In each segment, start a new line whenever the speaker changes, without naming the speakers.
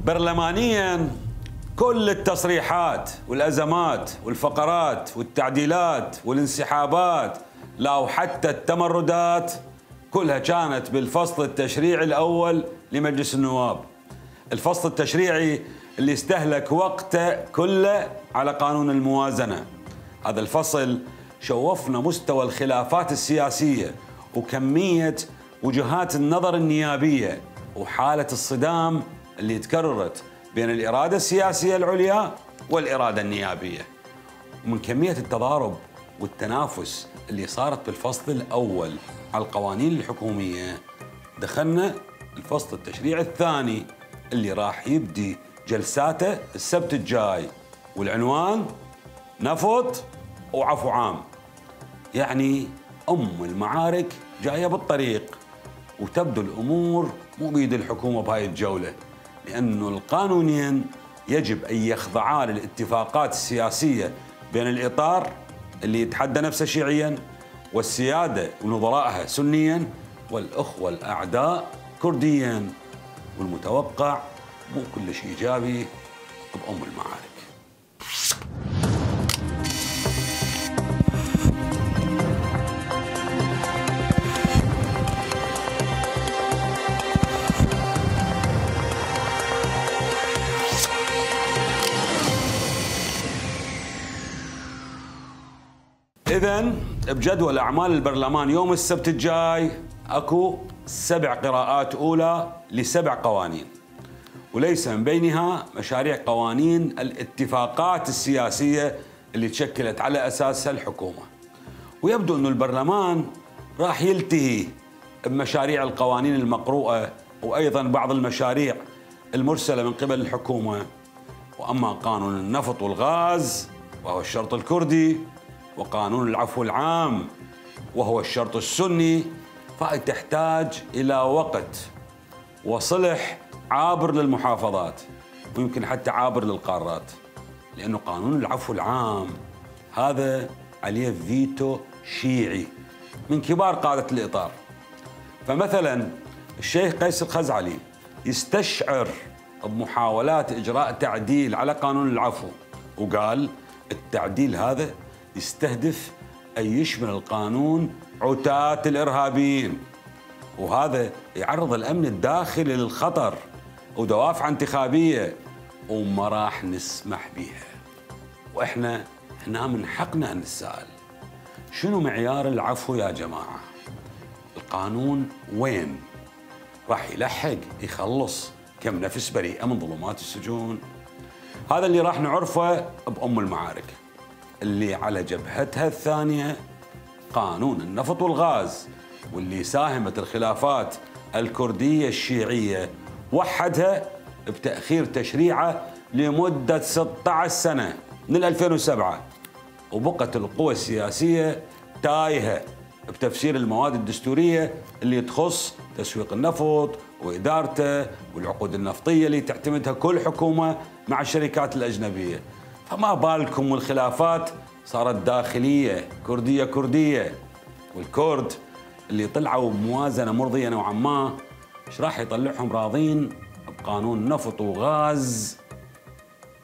برلمانيا كل التصريحات والأزمات والفقرات والتعديلات والانسحابات لا وحتى التمردات كلها كانت بالفصل التشريعي الأول لمجلس النواب. الفصل التشريعي اللي استهلك وقته كله على قانون الموازنة. هذا الفصل شوفنا مستوى الخلافات السياسية وكمية وجهات النظر النيابية وحالة الصدام اللي تكررت بين الإرادة السياسية العليا والإرادة النيابية، ومن كمية التضارب والتنافس اللي صارت بالفصل الأول على القوانين الحكومية. دخلنا الفصل التشريعي الثاني اللي راح يبدي جلساته السبت الجاي، والعنوان نفط وعفو عام. يعني المعارك جاية بالطريق، وتبدو الأمور مو بيد الحكومة بهاي الجولة، لأنه القانونين يجب أن يخضعا للاتفاقات السياسية بين الإطار اللي يتحدى نفسه شيعيا والسيادة ونظرائها سنيا والأخوة الأعداء كرديا. والمتوقع مو كل شيء إيجابي المعارك. إذن بجدول أعمال البرلمان يوم السبت الجاي أكو 7 قراءات أولى ل7 قوانين، وليس من بينها مشاريع قوانين الاتفاقات السياسية اللي تشكلت على أساسها الحكومة. ويبدو أن البرلمان راح يلتهي بمشاريع القوانين المقروءة وأيضا بعض المشاريع المرسلة من قبل الحكومة. وأما قانون النفط والغاز وهو الشرط الكردي، وقانون العفو العام وهو الشرط السني، فهي تحتاج إلى وقت وصلح عابر للمحافظات ويمكن حتى عابر للقارات، لأنه قانون العفو العام هذا عليه فيتو شيعي من كبار قادة الإطار. فمثلا الشيخ قيس الخزعلي يستشعر بمحاولات إجراء تعديل على قانون العفو، وقال التعديل هذا يستهدف أن يشمل القانون عتاة الإرهابيين، وهذا يعرض الأمن الداخلي للخطر ودوافع انتخابية وما راح نسمح بيها. وإحنا هنا من حقنا أن نسأل شنو معيار العفو يا جماعة؟ القانون وين؟ راح يلحق يخلص كم نفس بريئة من ظلمات السجون؟ هذا اللي راح نعرفه المعارك اللي على جبهتها الثانية قانون النفط والغاز، واللي ساهمت الخلافات الكردية الشيعية وحدها بتأخير تشريعه لمدة 16 سنة من 2007، وبقت القوى السياسية تايهة بتفسير المواد الدستورية اللي تخص تسويق النفط وإدارته والعقود النفطية اللي تعتمدها كل حكومة مع الشركات الأجنبية. فما بالكم والخلافات صارت داخلية كردية، والكرد اللي طلعوا بموازنة مرضية نوعا ما ايش راح يطلعهم راضين بقانون نفط وغاز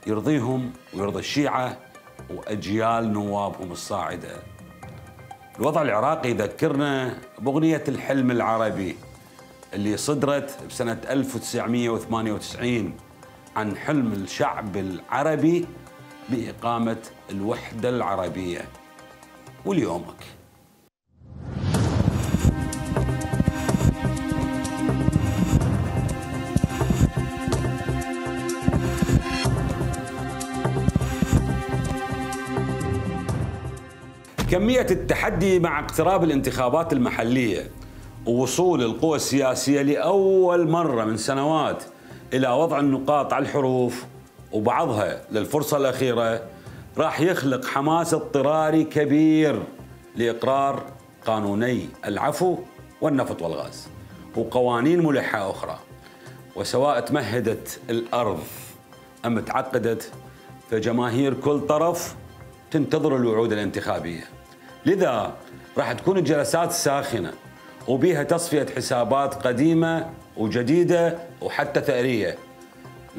يرضيهم ويرضي الشيعة وأجيال نوابهم الصاعدة. الوضع العراقي يذكرنا بأغنية الحلم العربي اللي صدرت بسنة 1998 عن حلم الشعب العربي بإقامة الوحدة العربية. وليومك كمية التحدي مع اقتراب الانتخابات المحلية ووصول القوى السياسية لأول مرة من سنوات إلى وضع النقاط على الحروف وبعضها للفرصة الأخيرة راح يخلق حماس اضطراري كبير لإقرار قانوني العفو والنفط والغاز وقوانين ملحة أخرى. وسواء تمهدت الأرض أم تعقدت، فجماهير كل طرف تنتظر الوعود الانتخابية. لذا راح تكون الجلسات ساخنة وبيها تصفية حسابات قديمة وجديدة وحتى ثأرية.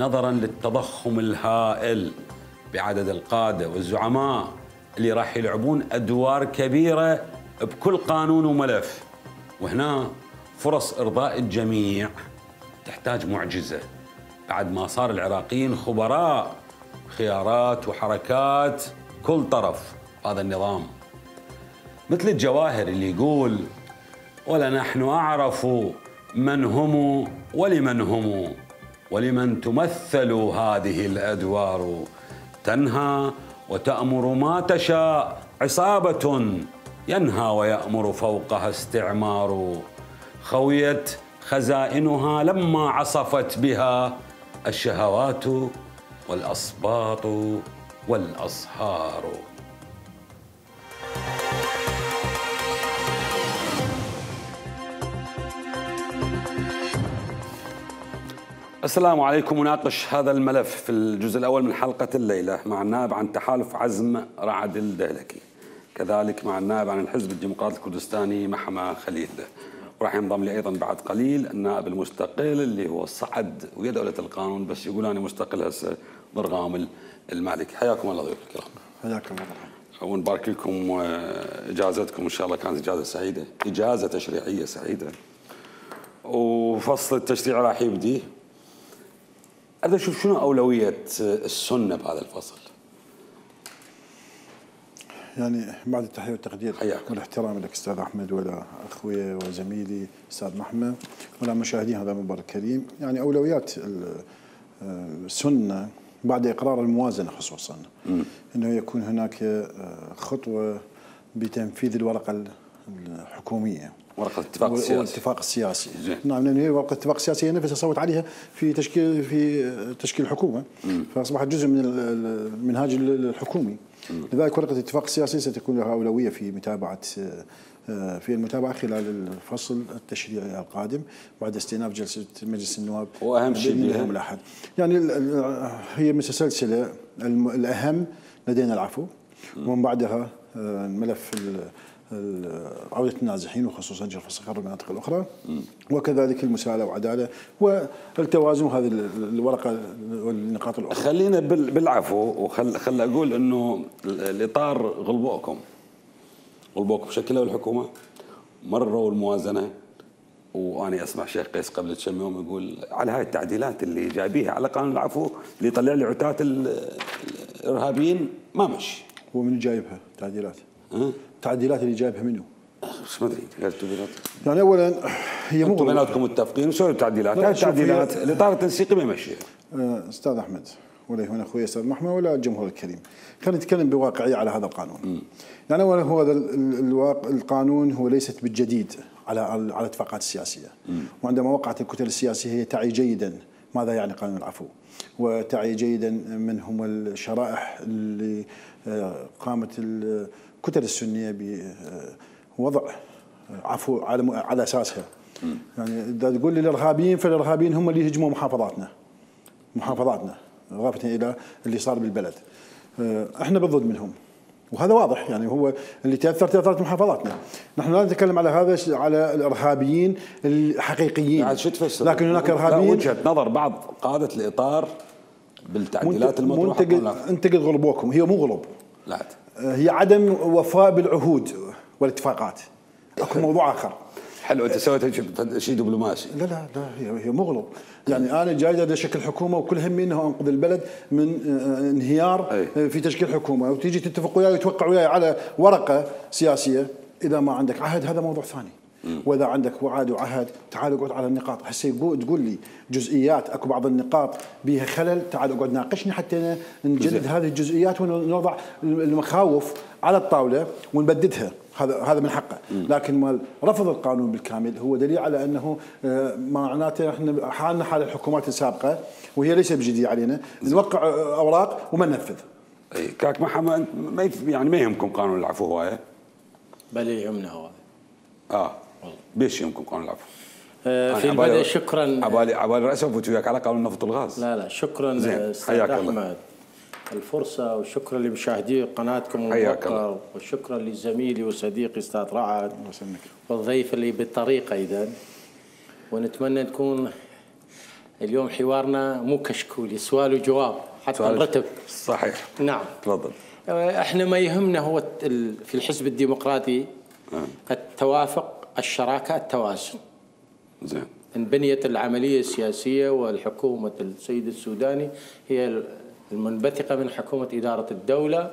نظرا للتضخم الهائل بعدد القادة والزعماء اللي راح يلعبون أدوار كبيرة بكل قانون وملف. وهنا فرص إرضاء الجميع تحتاج معجزة بعد ما صار العراقيين خبراء خيارات وحركات كل طرف هذا النظام. مثل الجواهر اللي يقول: ولا نحن أعرف من هم ولمن هم ولمن تمثل هذه الأدوار، تنهى وتأمر ما تشاء عصابة، ينهى ويأمر فوقها استعمار، خويت خزائنها لما عصفت بها الشهوات والأصباط والأصهار. السلام عليكم. نناقش هذا الملف في الجزء الأول من حلقة الليلة مع النائب عن تحالف عزم رعد الدهلكي، كذلك مع النائب عن الحزب الديمقراطي الكردستاني محمى خليل، وراح ينضم لي أيضا بعد قليل النائب المستقل اللي هو صعد ويا دولة القانون بس يقول أنا مستقل هسه، ضرغام المالكي. حياكم الله ضيوف الكرام.
حياكم الله.
ونبارك لكم إجازتكم، إن شاء الله كانت إجازة سعيدة، إجازة تشريعية سعيدة، وفصل التشريع راح يبدي. أريد أشوف شنو أولوية السنة بهذا الفصل.
يعني بعد التحية والتقدير والاحترام لك أستاذ أحمد ولا أخوي وزميلي أستاذ محمد ولا مشاهدين هذا المبارك الكريم، يعني أولويات السنة بعد إقرار الموازنة خصوصا أنه يكون هناك خطوة بتنفيذ الورقة الحكومية،
ورقة الاتفاق السياسي
والاتفاق السياسي. نعم، لأن هي ورقة الاتفاق السياسي هي نفسها صوت عليها في تشكيل الحكومة، فأصبحت جزء من المنهاج الحكومي. لذلك ورقة الاتفاق السياسي ستكون لها أولوية في المتابعة خلال الفصل التشريعي القادم بعد استئناف جلسة مجلس النواب.
وأهم شيء
اليوم الأحد، يعني هي مثل سلسلة. الأهم لدينا العفو، ومن بعدها الملف عودة النازحين وخصوصا جرف الصخر والمناطق الأخرى، وكذلك المساءلة وعدالة والتوازن، وهذه الورقة والنقاط الأخرى.
خلينا بالعفو، وخل أقول أنه الإطار غلبوكم شكلوا الحكومة، مروا الموازنة، وأنا أسمع شيخ قيس قبل كم يوم يقول على هاي التعديلات اللي جايبيها على قانون العفو اللي يطلع لي عتاة الإرهابيين ما مشي.
هو من جايبها تعديلات؟ التعديلات اللي جايبها منه؟
مش مدري.
يعني اولا هي مو
بيناتكم متفقين وسووا التعديلات. هاي التعديلات الاطار التنسيقي ما يمشيها.
استاذ احمد ولا هنا اخوي استاذ محمد ولا الجمهور الكريم، خلينا نتكلم بواقعيه على هذا القانون. يعني اولا هو هذا القانون هو ليست بالجديد على الاتفاقات السياسيه، وعندما وقعت الكتل السياسيه هي تعي جيدا ماذا يعني قانون العفو، وتعي جيدا من هم الشرائح اللي قامت الكتل السنيه بوضع عفو على اساسها. يعني اذا تقول لي الارهابيين، فالارهابيين هم اللي يهجموا محافظاتنا اضافه الى اللي صار بالبلد. احنا بالضد منهم، وهذا واضح. يعني هو اللي تاثرت محافظاتنا. نحن لا نتكلم على هذا، على الارهابيين الحقيقيين، لكن هناك ارهابيين.
وجهه نظر بعض قاده الاطار بالتعديلات المطروحه.
انتقد غلبوكم، هي مو غلب،
لا
هي عدم وفاء بالعهود والاتفاقات. اكو موضوع اخر.
حلو، انت سويت شيء دبلوماسي.
لا هي مغلب. يعني انا جاي لشكل حكومه وكل همي انه انقذ البلد من انهيار في تشكيل حكومه، وتيجي تتفق وياي وتوقع وياي على ورقه سياسيه. اذا ما عندك عهد هذا موضوع ثاني، واذا عندك وعد وعهد تعال اقعد على النقاط. هسه تقول لي جزئيات، اكو بعض النقاط بها خلل، تعال اقعد ناقشني حتى نجدد هذه الجزئيات ونوضع المخاوف على الطاوله ونبددها. هذا من حقه. لكن مال رفض القانون بالكامل هو دليل على انه معناته احنا حالنا حال الحكومات السابقه، وهي ليس بجدية علينا نوقع اوراق وما ننفذ.
اي كاك محمد، ما يهمكم قانون العفو هوايه؟
بل يهمنا هو.
بيش يهمكم قانون العفو؟
في البدء شكرا.
عبالي راسي افوت وياك على قانون النفط والغاز.
لا شكرا استاذ احمد الفرصة، وشكرا لمشاهدي قناتكم الموقر، وشكرا لزميلي وصديقي استاذ رعد والضيف اللي بالطريق ايضا. ونتمنى تكون اليوم حوارنا مو كشكولي، سؤال وجواب حتى نرتب.
صحيح.
نعم.
تفضل.
احنا ما يهمنا هو في الحزب الديمقراطي التوافق، الشراكه، التوازن.
زين.
انبنيت العمليه السياسيه والحكومه السيد السوداني هي المنبثقه من حكومه اداره الدوله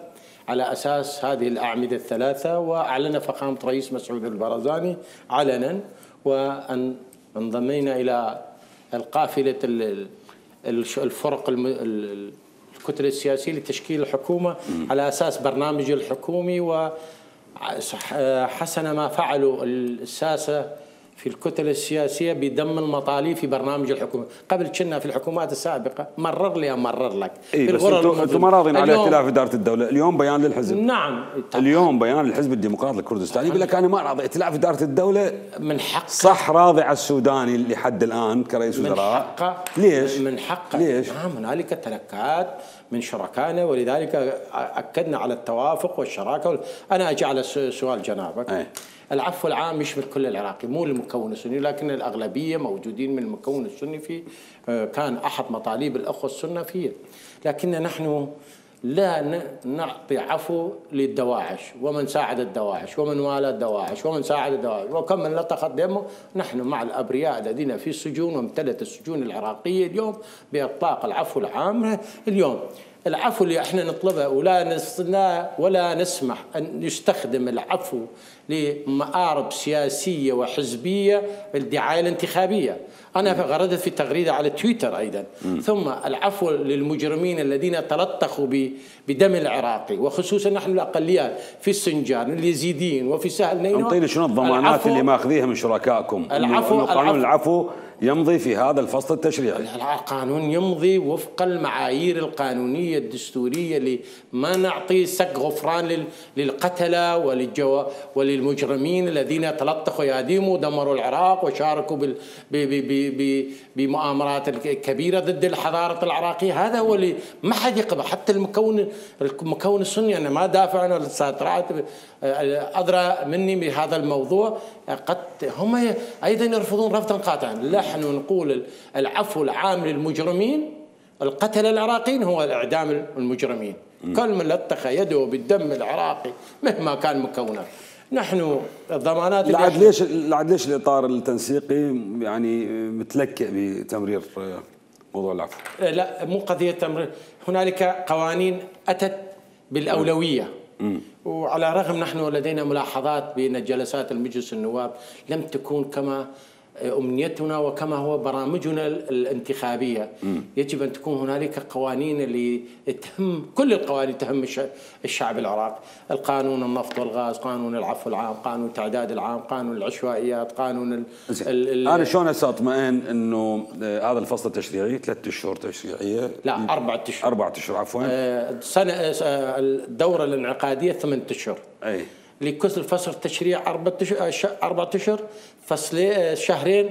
على اساس هذه الاعمده الثلاثه، واعلن فخامه رئيس مسعود البرزاني علنا، وان انضمينا الى القافله الفرق الكتله السياسيه لتشكيل الحكومه على اساس برنامج الحكومي، وحسن ما فعلوا الساسه في الكتل السياسيه بدم المطالب في برنامج الحكومه. قبل كنا في الحكومات السابقه مرر لك
إيه، بس انتم ما راضين على ائتلاف اداره الدوله. اليوم بيان للحزب.
نعم.
اليوم بيان للحزب الديمقراطي الكردستاني يقول لك انا ما راضي ائتلاف اداره الدوله.
من حقه.
صح، راضي على السوداني لحد الان كرئيس وزراء.
من حقه.
ليش؟
من حقه.
ليش؟
نعم، هنالك تلكات من شركائنا، ولذلك اكدنا على التوافق والشراكه. انا اجي على سؤال جنابك. العفو العام يشمل كل العراقي، مو المكون السني، لكن الاغلبيه موجودين من المكون السني فيه. كان احد مطالب الاخوه السنه فيه، لكن نحن لا نعطي عفو للدواعش ومن ساعد الدواعش ومن والى الدواعش ومن ساعد الدواعش وكم من لطخت دمه. نحن مع الابرياء الذين في السجون، وامتلت السجون العراقيه اليوم باطلاق العفو العام. اليوم العفو اللي احنا نطلبه ولا نسمح ان يستخدم العفو لمآرب سياسيه وحزبيه بالدعايه الانتخابيه. انا غردت في تغريده على تويتر ايضا. ثم العفو للمجرمين الذين تلطخوا بدم العراقي، وخصوصا نحن الاقليات في السنجان، اليزيديين، وفي سهل نينوى.
انطيني شنو الضمانات اللي ماخذيها من شركائكم؟ قانون العفو يمضي في هذا الفصل التشريعي.
القانون يمضي وفق المعايير القانونيه الدستوريه، اللي ما نعطي سق غفران للقتله وللمجرمين الذين تلطخوا اياديهم ودمروا العراق وشاركوا بمؤامرات كبيره ضد الحضاره العراقيه. هذا هو اللي ما حد يقبل، حتى المكون السني. انا ما دافع، انا طلعت ادرى مني بهذا الموضوع. قد هم ايضا يرفضون رفضا قاطعا. نحن نقول العفو العام للمجرمين القتله العراقيين هو الاعدام المجرمين. كل من لطخ يده بالدم العراقي مهما كان مكونه. نحن الضمانات
لعد ليش الاطار التنسيقي يعني متلكئ بتمرير موضوع العفو؟
لا، مو قضيه تمرير. هنالك قوانين اتت بالاولويه، وعلى الرغم نحن لدينا ملاحظات بان جلسات المجلس النواب لم تكون كما امنيتنا وكما هو برامجنا الانتخابيه. يجب ان تكون هنالك قوانين اللي تهم، كل القوانين تهم الشعب العراقي. القانون النفط والغاز، قانون العفو العام، قانون التعداد العام، قانون العشوائيات، قانون
انا شلون اطمئن انه هذا الفصل التشريعي 3 اشهر تشريعيه؟
لا، 4 اشهر.
4 اشهر عفوا.
سنه الدوره الانعقاديه 8 اشهر.
اي
لكل فصل التشريع 4 اشهر، فصل شهرين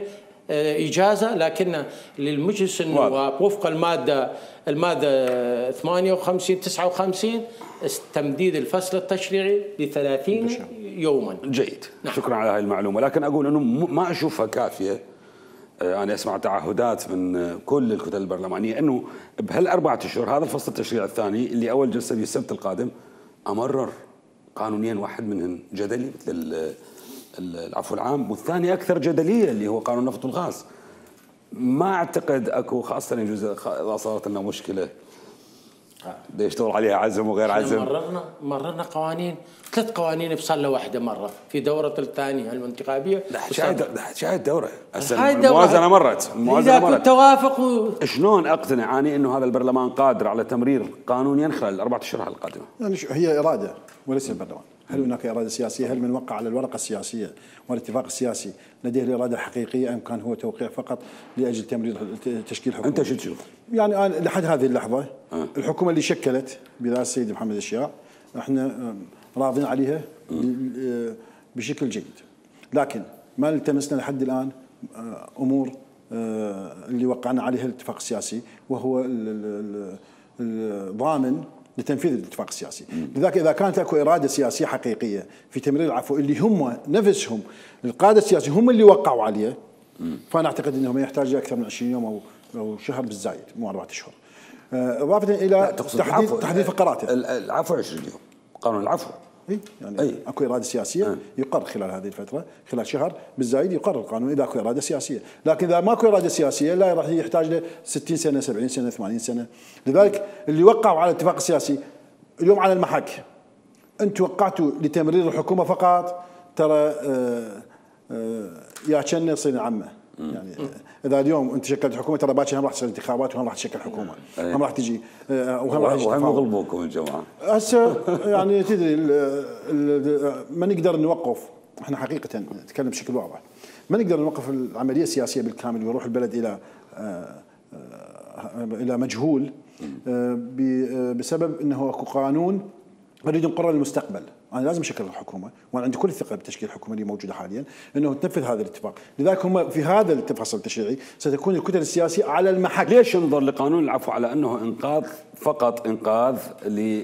اجازه. لكن للمجلس النواب وفق الماده 58 59 تمديد الفصل التشريعي ل 30 يوما.
جيد. نعم. شكرا على هذه المعلومه، لكن اقول انه ما اشوفها كافيه. انا اسمع تعهدات من كل الكتل البرلمانيه انه بهال4 اشهر هذا الفصل التشريعي الثاني اللي اول جلسه به السبت القادم امرر قانونين، واحد منهم جدلي مثل العفو العام، والثاني اكثر جدليه اللي هو قانون النفط والغاز. ما اعتقد اكو، خاصه يجوز اذا صارت لنا مشكله بده يشتغل عليها عزم وغير عزم.
مررنا قوانين، 3 قوانين بصلة واحده مره في دوره الثانيه الانتخابيه.
شاهد دوره الموازنه مرت.
اذا كنت توافق
شلون اقتنع اني انه هذا البرلمان قادر على تمرير قانونين خلال 4 اشهر القادمه؟
يعني هي اراده وليس البرلمان. هل هناك اراده سياسيه؟ هل من وقع على الورقه السياسيه والاتفاق السياسي لديه الاراده الحقيقيه، ام كان هو توقيع فقط لاجل تمرير تشكيل حكومه؟
انت شو تشوف؟
يعني أنا لحد هذه اللحظه الحكومه اللي شكلت برئاسه السيد محمد الشياع احنا راضين عليها بشكل جيد، لكن ما التمسنا لحد الان امور اللي وقعنا عليها الاتفاق السياسي، وهو الضامن لتنفيذ الاتفاق السياسي. لذلك اذا كانت اكو اراده سياسيه حقيقيه في تمرير العفو اللي هم نفسهم القاده السياسيين هم اللي وقعوا عليه، فانا اعتقد انه ما يحتاج اكثر من 20 يوم او او شهر بالزايد مو 4 اشهر. اضافه الى تحديد فقراته.
العفو 20 يوم، قانون العفو.
يعني اكو اراده سياسيه يقر خلال هذه الفتره، خلال شهر بالزايد يقرر القانون اذا اكو اراده سياسيه، لكن اذا ماكو اراده سياسيه لا راح يحتاج له 60 سنه 70 سنه 80 سنه. لذلك اللي وقعوا على الاتفاق السياسي اليوم على المحك، انتم وقعتوا لتمرير الحكومه فقط، ترى يا كنا يصير عمه. يعني اذا اليوم انت شكلت حكومه ترى باكر هم راح تصير انتخابات وهم راح تشكل حكومه، هم راح تجي
وهم يغلبوكم الجماعه.
هسه يعني تدري ما نقدر نوقف، احنا حقيقه نتكلم بشكل واضح، ما نقدر نوقف العمليه السياسيه بالكامل ويروح البلد الى مجهول بسبب انه اكو قانون نريد نقرر المستقبل. انا لازم اشكل الحكومه وانا عندي كل الثقه بتشكيل الحكومه اللي موجوده حاليا انه تنفذ هذا الاتفاق، لذلك هم في هذا الفصل التشريعي ستكون الكتل السياسيه على المحك.
ليش ننظر لقانون العفو على انه انقاذ فقط، انقاذ ل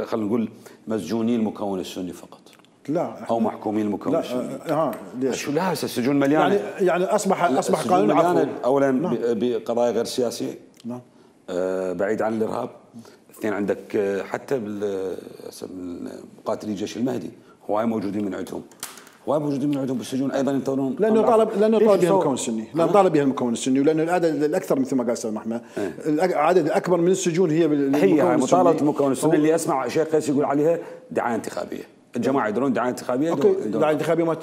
خلينا نقول مسجونين المكون السني فقط؟
لا
او محكومين المكون السني.
ليش؟
شو لا هسه السجون مليانه،
يعني اصبح قانون العفو
اولا بقضايا غير سياسيه،
نعم،
بعيد عن الارهاب. اثنين عندك حتى مقاتلي جيش المهدي هواي موجودين من عندهم، بالسجون ايضا ينتظرون،
لانه طالب بها المكون السني، لانه طالب بها المكون السني، ولانه العدد الاكثر مثل ما قال استاذ محمد، العدد الاكبر من السجون هي
مطالبه المكون السني اللي اسمع شيخ قيس يقول عليها دعايه انتخابيه. الجماعه يدرون دعايه انتخابيه،
دعايه انتخابيه ما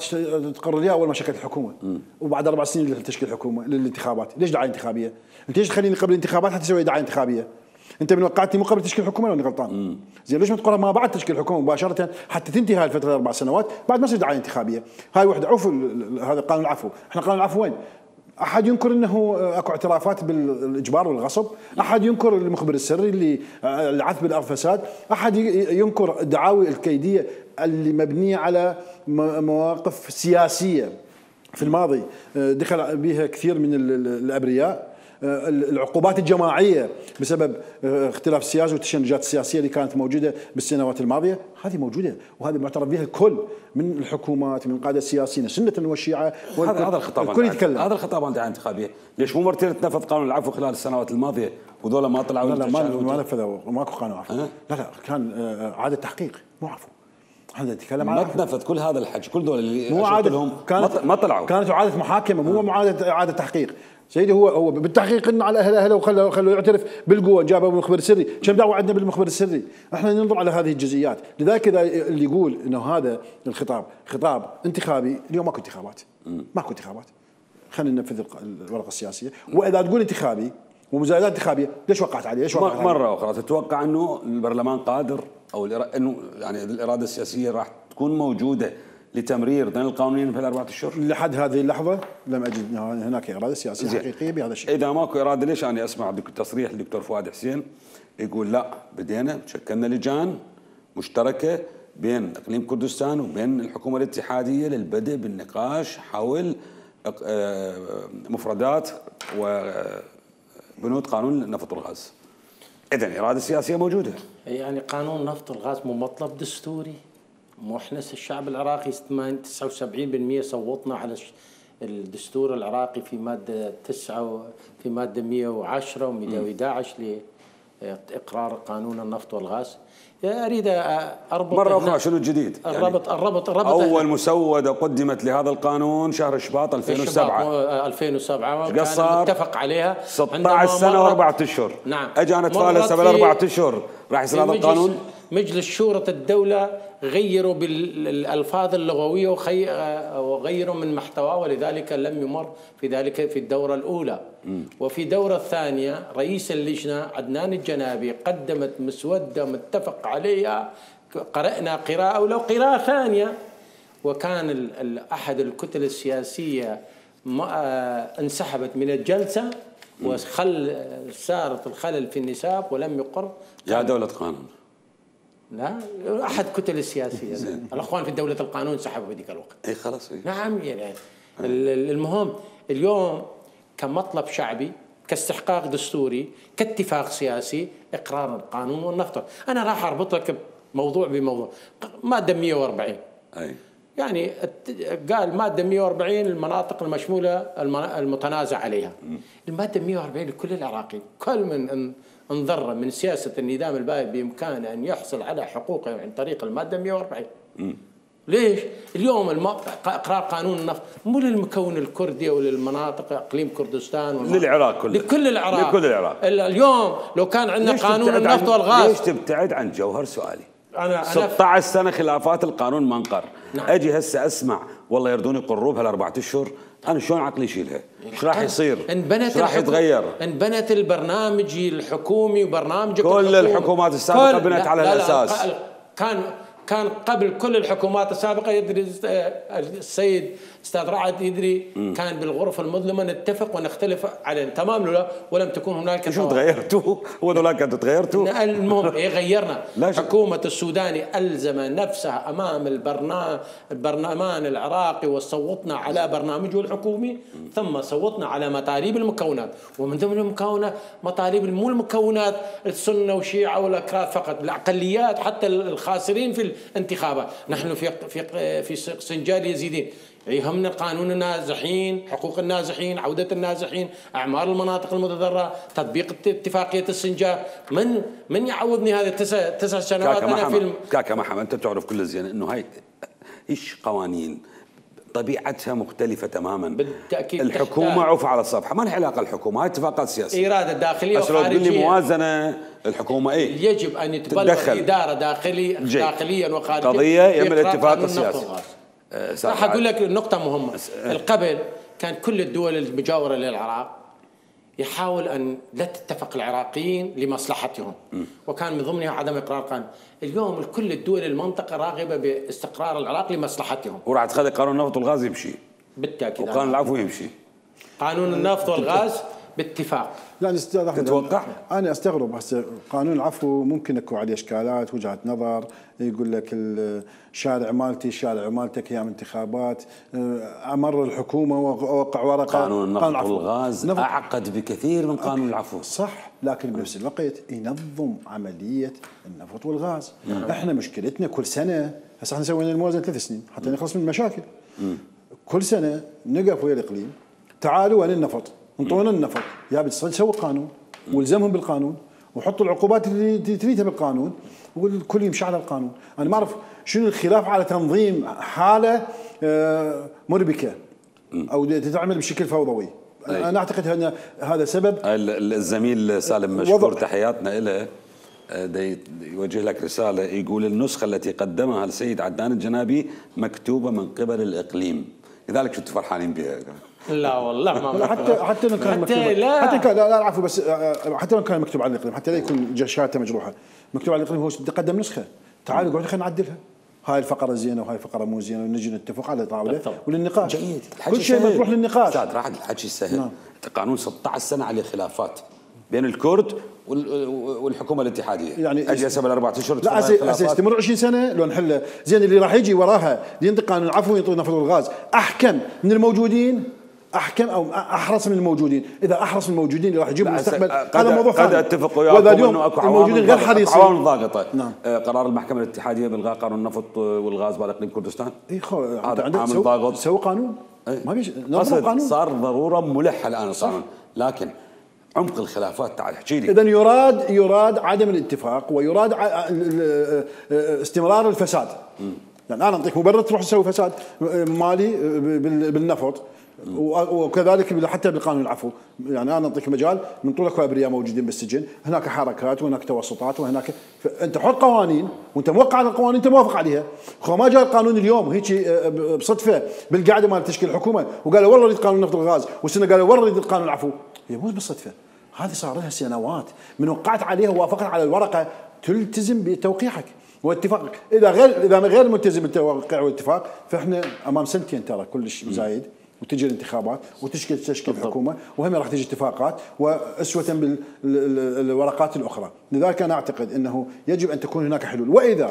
تقرر لها اول ما شكلت الحكومه، وبعد 4 سنين لتشكيل الحكومه للانتخابات. ليش دعايه انتخابيه؟ انت ليش تخليني قبل الانتخابات حتى تسوي دعايه انتخابيه؟ انت من وقعتني مو قبل تشكيل الحكومه ولا غلطان؟ زين ليش ما تقرر ما بعد تشكيل الحكومه مباشره حتى تنتهي هاي الفتره 4 سنوات بعد ما تصير دعايه انتخابيه؟ هاي وحده. عفوا هذا قانون العفو، احنا قانون العفو وين؟ احد ينكر انه اكو اعترافات بالاجبار والغصب؟ احد ينكر المخبر السري اللي العث بالارض فساد؟ احد ينكر الدعاوي الكيديه اللي مبنيه على مواقف سياسيه في الماضي دخل بها كثير من الابرياء؟ العقوبات الجماعيه بسبب اختلاف السياسي والتشنجات السياسيه اللي كانت موجوده بالسنوات الماضيه، هذه موجوده وهذه معترف بها الكل من الحكومات من القاده السياسيين السنه والشيعه.
هذا الخطاب
الكل يتكلم،
هذا الخطاب عن دعايه انتخابيه. ليش مو مرتين تنفذ قانون العفو خلال السنوات الماضيه وذولا ما طلعوا؟
لا ما نفذوا، ماكو قانون عفو. لا كان عاده تحقيق مو عفو. احنا نتكلم عن
ما تنفذ كل هذا الحكي، كل دول اللي
مو عاده
ما طلعوا،
كانت عاده محاكمه مو عاده تحقيق. سيدي هو بالتحقيق انه على اهله وخلوا يعترف بالقوه، جابوا المخبر السري، كم دعوه عندنا بالمخبر السري؟ احنا ننظر على هذه الجزئيات. لذلك اذا اللي يقول انه هذا الخطاب خطاب انتخابي، اليوم ماكو انتخابات، خلينا ننفذ الورقه السياسيه. واذا تقول انتخابي ومزايدات انتخابيه ليش وقعت عليه؟ ليش وقعت
مره اخرى تتوقع انه البرلمان قادر او انه يعني الاراده السياسيه راح تكون موجوده لتمرير ضمن القانونين في ال4 اشهر؟
لحد هذه اللحظه لم اجد هناك اراده سياسيه حقيقيه بهذا الشيء.
اذا ماكو اراده ليش انا اسمع تصريح الدكتور فؤاد حسين يقول لا بدينا شكلنا لجان مشتركه بين اقليم كردستان وبين الحكومه الاتحاديه للبدء بالنقاش حول مفردات وبنود قانون النفط والغاز. اذا اراده سياسيه موجوده.
يعني قانون النفط والغاز مو مطلب دستوري؟ مو احنا الشعب العراقي 79% صوتنا على الدستور العراقي في ماده 9 في ماده 110 و111 لاقرار قانون النفط والغاز. اريد اربط
مره اخرى شنو الجديد؟
الربط
اول مسوده قدمت لهذا القانون شهر شباط
2007 كان متفق عليها
16 سنه و4 اشهر.
نعم.
اجانا تفالسه بال4 اشهر راح يصير هذا القانون.
مجلس شورى الدوله غيروا بالالفاظ اللغويه وغيروا من محتواه، ولذلك لم يمر في ذلك في الدوره الاولى. وفي الدوره الثانيه رئيس اللجنه عدنان الجنابي قدمت مسوده متفق عليها، قرانا قراءه ولو قراءه ثانيه، وكان احد الكتل السياسيه انسحبت من الجلسه صارت الخلل في النساب ولم يقر.
يا دوله قانون.
لا احد كتل السياسيه الاخوان في دوله القانون سحبوا في ذيك الوقت.
اي خلاص.
نعم يعني المهم اليوم كمطلب شعبي، كاستحقاق دستوري، كاتفاق سياسي، اقرار القانون والنفط. انا راح اربط لك موضوع بموضوع. ماده 140
اي
يعني قال ماده 140 المناطق المشموله المتنازع عليها. الماده 140 لكل العراقيين، كل من انضر من سياسه النظام البائد بامكانه ان يحصل على حقوقه عن طريق الماده 140. ليش؟ اليوم اقرار قانون النفط مو للمكون الكردي او للمناطق اقليم كردستان
للعراق كله،
لكل العراق،
لكل العراق.
اليوم لو كان عندنا قانون النفط والغاز.
ليش تبتعد عن جوهر سؤالي؟
أنا
16 سنه خلافات القانون ما انقر.
نعم.
اجي هسه اسمع والله يردون يقروا بهال4 اشهر، انا شلون عقلي يشيلها؟ ايش راح يصير؟ ايش راح يتغير؟
انبنت البرنامج الحكومي وبرنامج
كل الحكومات السابقه بنت على الاساس.
كان قبل كل الحكومات السابقه يدري السيد استاذ رعد يدري كان بالغرف المظلمه نتفق ونختلف على تمام ولم تكن هناك.
شو تغيرتوا؟ هو ذولاك انتم تغيرتوا؟
المهم غيرنا. حكومه السوداني الزم نفسها امام البرلمان العراقي وصوتنا على برنامجه الحكومي، ثم صوتنا على مطالب المكونات، ومن ضمن المكونات مطالب مو المكونات السنه والشيعه والاكراد فقط، الاقليات حتى الخاسرين في الانتخابات. نحن في سنجال يزيدين يهمنا قانون النازحين، حقوق النازحين، عودة النازحين، أعمار المناطق المتضررة، تطبيق اتفاقية السنجاب. من يعوضني هذه 9 سنوات أنا في
كاكا محمد، أنت تعرف كل زين إنه هاي إيش قوانين طبيعتها مختلفة تماما.
بالتأكيد
الحكومة عوف على الصفحة، ما لها علاقة الحكومة، هاي اتفاقات سياسية.
إرادة داخلية وخارجية.
بس لو موازنة الحكومة
يجب أن يتبلغ الإدارة داخليا وخارجيا
قضية يم الاتفاق السياسي.
راح أقول لك نقطة مهمة. قبل كان كل الدول المجاورة للعراق يحاول أن لا تتفق العراقيين لمصلحتهم، وكان من ضمنها عدم إقرار قانون. اليوم كل الدول المنطقة راغبة باستقرار العراق لمصلحتهم،
وراح تخلي قانون النفط والغاز يمشي.
بالتأكيد.
وقانون العفو يمشي.
قانون النفط والغاز باتفاق.
لا استاذ احمد،
تتوقع؟
انا استغرب هسه قانون العفو ممكن يكون عليه اشكالات، وجهات نظر، يقول لك الشارع مالتي الشارع مالتك ايام انتخابات، امر الحكومه ووقع ورقه.
قانون النفط والغاز اعقد بكثير من قانون العفو.
صح، لكن بنفس الوقت ينظم عمليه النفط والغاز. احنا مشكلتنا كل سنه، هسه احنا سوينا الموازنه 3 سنين حتى نخلص من المشاكل. كل سنه نقف ويا الاقليم، تعالوا وين النفط؟ انطونا النفط، يا بتسوي قانون والزمهم بالقانون وحطوا العقوبات اللي تريدها بالقانون والكل يمشي على القانون. انا ما اعرف شنو الخلاف على تنظيم حاله مربكه او تتعمل بشكل فوضوي. انا اعتقد ان هذا سبب.
الزميل سالم مشكور، تحياتنا له، يوجه لك رساله، يقول النسخه التي قدمها السيد عدنان الجنابي مكتوبه من قبل الاقليم، لذلك كنتوا فرحانين بها.
لا والله ما
حتى لو كان مكتوب، حتى كان لا عفوا، بس حتى لو كان مكتوب على الاقليم، حتى لا يكون شهادته مجروحه، مكتوب على الاقليم هو قدم نسخه، تعالوا اقعدوا خلينا نعدلها، هاي الفقره زينه وهاي الفقره مو زينه، ونجي نتفق على طاوله وللنقاش.
جيد،
كل شيء مطروح للنقاش.
استاذ راح الحكي سهل. قانون 16 سنه عليه خلافات بين الكرد والحكومه الاتحاديه، يعني اجي هسه بال4 اشهر
لا سيستمر 20 سنه لو نحله. زين اللي راح يجي وراها ينطق قانون العفو وينطق النفط والغاز احكم من الموجودين، احكم او احرص من الموجودين. اذا احرص من الموجودين اللي راح يجيب المستقبل هذا موضوع ثاني.
قد اتفق وياكم انه اكو
الموجودين غير حريصين،
عوامل ضاغطه. نعم. قرار المحكمه الاتحاديه بالغاء قانون النفط والغاز باقليم كردستان.
هذا عامل ضاغط. سووا قانون ما فيش قانون،
صار ضروره ملحه الان القانون، لكن عمق الخلافات تعال احكي لي.
اذا يراد عدم الاتفاق ويراد استمرار الفساد. يعني انا اعطيك مبرر تروح تسوي فساد مالي بالنفط، وكذلك حتى بالقانون العفو. يعني انا اعطيك مجال من طولك وابرياء موجودين بالسجن، هناك حركات وهناك توسطات وهناك انت حط قوانين وانت موقع على القوانين انت موافق عليها. ما جاء القانون اليوم هيك بصدفه بالقعده مال تشكيل الحكومه وقالوا والله نريد قانون النفط والغاز، والسنه قالوا والله نريد قانون العفو. هي مو بالصدفه، هذه صار لها سنوات من وقعت عليها ووافقت على الورقه تلتزم بتوقيعك واتفاقك. اذا غير ملتزم بالتوقيع والاتفاق فاحنا امام سنتين ترى كلش زايد، وتجي الانتخابات وتشكل حكومه، وهم راح تجي اتفاقات واسوه بالورقات الاخرى. لذلك انا اعتقد انه يجب ان تكون هناك حلول، واذا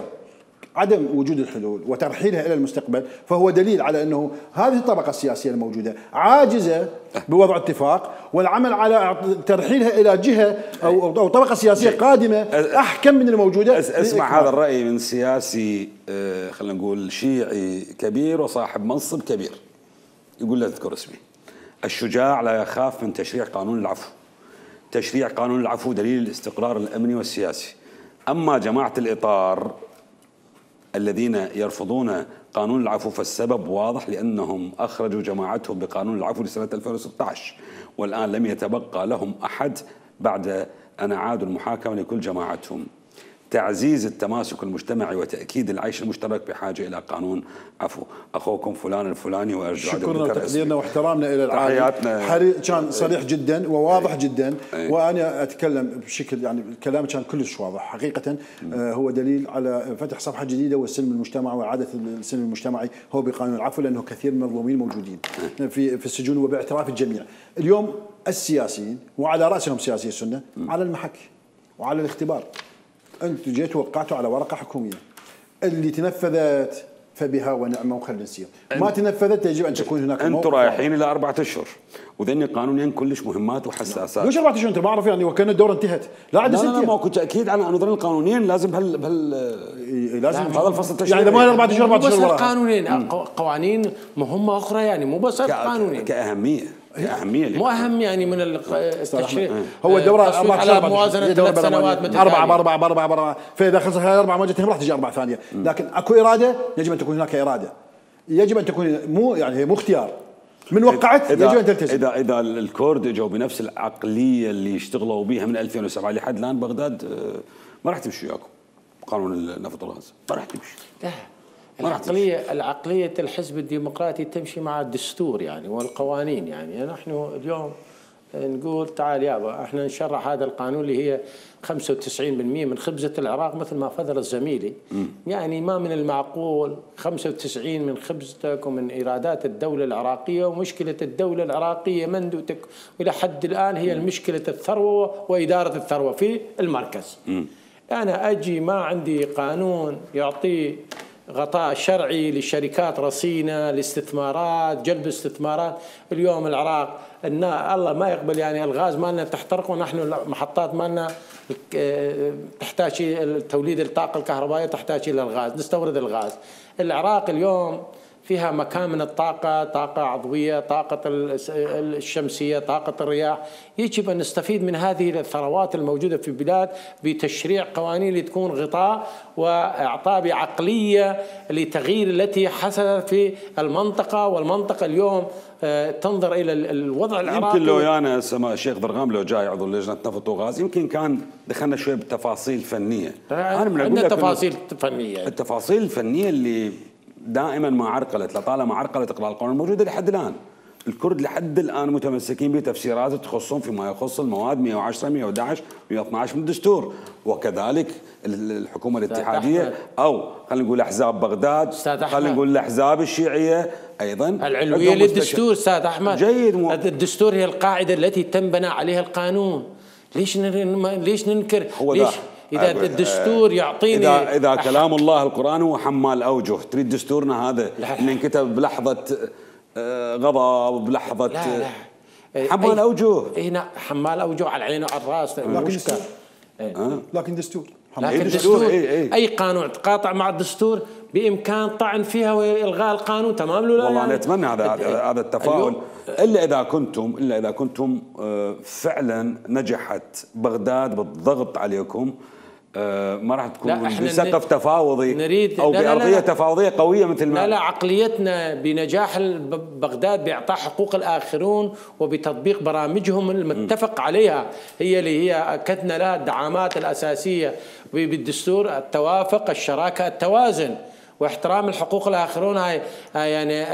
عدم وجود الحلول وترحيلها الى المستقبل فهو دليل على انه هذه الطبقه السياسيه الموجوده عاجزه بوضع اتفاق والعمل على ترحيلها الى جهه او طبقه سياسيه قادمه احكم من الموجوده.
اسمع هذا الراي من سياسي خلينا نقول شيعي كبير وصاحب منصب كبير، يقول لا اذكر اسمي: الشجاع لا يخاف من تشريع قانون العفو. تشريع قانون العفو دليل الاستقرار الامني والسياسي. اما جماعه الاطار الذين يرفضون قانون العفو فالسبب واضح، لأنهم أخرجوا جماعتهم بقانون العفو لسنة 2016 والآن لم يتبقى لهم أحد بعد أن أعادوا المحاكمة لكل جماعتهم. تعزيز التماسك المجتمعي وتأكيد العيش المشترك بحاجة إلى قانون عفو. أخوكم فلان الفلاني وأرجو
شكرا وتقديرنا واحترامنا إلى العالم. كان صريح جدا وواضح جدا، وأنا أتكلم بشكل يعني الكلام كان كلش واضح حقيقة. هو دليل على فتح صفحة جديدة والسلم المجتمعي وإعادة السلم المجتمعي هو بقانون العفو، لأنه كثير من المظلومين موجودين في السجون وباعتراف الجميع. اليوم السياسيين وعلى رأسهم سياسي السنة على المحك وعلى الاختبار. أنتم جيتوا وقعتوا على ورقة حكومية اللي تنفذت فبها ونعمة وخلينا نسير، ما تنفذت يجب أن تكون هناك.
أنتم رايحين إلى 4 أشهر وذني قانونين كلش مهمات وحساسات.
ليش 4 أشهر؟ أنت ما أعرف يعني وكان الدورة انتهت.
لا ما كنت أكيد على أنه ذني القانونين لازم لازم هذا الفصل التشريعي.
يعني ما 4 أشهر 4 أشهر
قانونين قوانين مهمة أخرى يعني مو بس قانونين
كأهمية
مو أهم يعني من التشريع.
هو الدورة 4
على موازنة 3 سنوات متتالية
4 فإذا خلصت هاي 4 ما جتهم راح تجي 4 ثانية، لكن أكو إرادة يجب أن تكون هناك إرادة، يجب أن تكون مو يعني مو اختيار من وقعت يجب أن تلتزم.
إذا الكرد اجوا بنفس العقلية اللي اشتغلوا بها من 2007 لحد الآن بغداد ما راح تمشي وياكم قانون النفط والغاز، ما راح تمشي.
العقلية الحزب الديمقراطي تمشي مع الدستور يعني والقوانين. يعني نحن اليوم نقول تعال يابا احنا نشرع هذا القانون اللي هي 95% من خبزة العراق مثل ما فضل زميلي. يعني ما من المعقول 95 من خبزتك ومن إيرادات الدولة العراقية، ومشكلة الدولة العراقية منذ إلى حد الآن هي المشكلة الثروة وإدارة الثروة في المركز. أنا أجي ما عندي قانون يعطي غطاء شرعي لشركات رصينة لاستثمارات جلب استثمارات. اليوم العراق الله ما يقبل يعني الغاز مالنا تحترق، ونحن المحطات مالنا تحتاج توليد الطاقة الكهربائية تحتاج إلى الغاز، نستورد الغاز. العراق اليوم فيها مكان من الطاقة، طاقة عضوية، طاقة الشمسية، طاقة الرياح. يجب أن نستفيد من هذه الثروات الموجودة في البلاد بتشريع قوانين لتكون غطاء وإعطاء بعقلية لتغيير التي حصلت في المنطقة. والمنطقة اليوم تنظر إلى الوضع العراقي.
يمكن لو أنا الشيخ ضرغام لو جاي عضو لجنة نفط وغاز يمكن كان دخلنا شوي بتفاصيل فنية.
عندنا تفاصيل فنية،
التفاصيل الفنية اللي دائما ما عرقلت لطالما عرقلت اقرار القانون الموجوده لحد الان. الكرد لحد الان متمسكين بتفسيرات تخصهم فيما يخص المواد 110 111 112 من الدستور، وكذلك الحكومه الاتحاديه او خلينا نقول احزاب بغداد، خلينا نقول الاحزاب الشيعيه ايضا
العلويه للدستور. استاذ احمد
جيد
الدستور هي القاعده التي تنبنى عليها القانون. ليش ننكر؟ ليش إذا الدستور يعطيني
إذا كلام الله القرآن هو حمال أوجه، تريد دستورنا هذا إن انكتب بلحظة غضب بلحظة حمال أوجه؟
هنا حمال أوجه على العين وعلى الرأس.
لكن دستور
أي قانون تقاطع مع الدستور بإمكان طعن فيها وإلغاء القانون. تمام له؟
والله أنا أتمنى هذا التفاؤل. إلا إذا كنتم فعلا نجحت بغداد بالضغط عليكم، ما راح تكون بسقف تفاوضي أو بأرضية تفاوضية قوية مثل ما
لا عقليتنا بنجاح بغداد بإعطاء حقوق الآخرون وبتطبيق برامجهم المتفق عليها، هي اللي هي أكدنا لها الدعامات الأساسية بالدستور: التوافق، الشراكة، التوازن، واحترام الحقوق الآخرون. هاي يعني